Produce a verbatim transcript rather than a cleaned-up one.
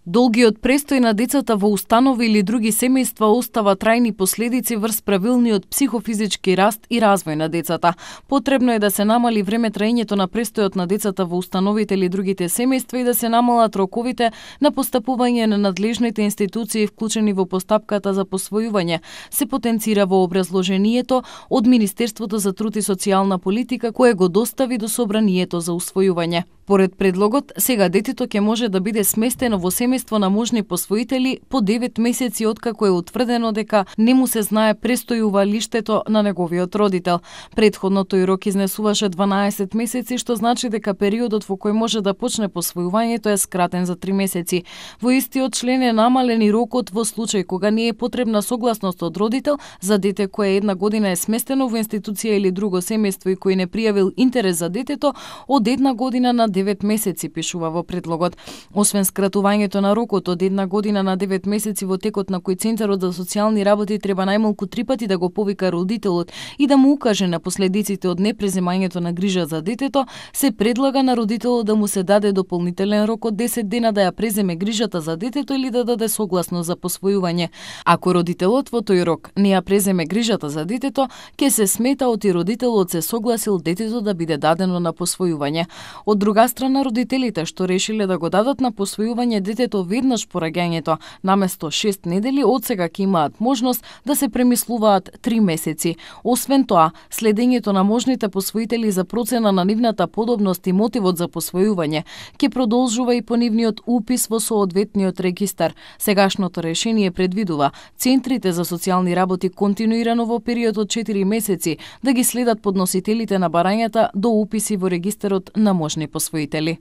Долгиот престој на децата во установи или други семејства остава трајни последици врз правилниот психофизички раст и развој на децата. Потребно е да се намали време траењето на престојот на децата во установите или другите семејства и да се намалат роковите на постапување на надлежните институции вклучени во постапката за посвојување, се потенцира во образложението од Министерството за труд и социјална политика кое го достави до Собранието за усвојување. Поред предлогот, сега детето ќе може да биде сместено во семејство на можни посвоители по девет месеци откако е утврдено дека не му се знае престојувалиштето на неговиот родител. Претходно тој рок изнесуваше дванаесет месеци, што значи дека периодот во кој може да почне посвојувањето е скратен за три месеци. Во истиот член е намален и рокот во случај кога не е потребна согласност од родител за дете кое една година е сместено во институција или друго семејство и кој не пријавил интерес за детето од една година на девет месеци, пишува во предлогот. Освен скратувањето на рокот од една година на девет месеци во текот на кој Центарот за социјални работи треба најмалку три пати да го повика родителот и да му укаже на последиците од непреземањето на грижа за детето, се предлага на родителот да му се даде дополнителен рок од десет дена да ја преземе грижата за детето или да даде согласност за посвојување. Ако родителот во тој рок не ја преземе грижата за детето, ќе се смета оти родителот се согласил детето да биде дадено на посвојување. Од друга страна, родителите што решиле да го дадат на посвојување детето веднаш по раѓањето, наместо шест недели, од сега ќе имаат можност да се премислуваат три месеци. Освен тоа, следењето на можните посвоители за процена на нивната подобност и мотивот за посвојување ќе продолжува и по нивниот упис во соодветниот регистар. Сегашното решение предвидува центрите за социјални работи континуирано во период од четири месеци да ги следат подносителите на барањата до уписи во регистарот на можни посвоители.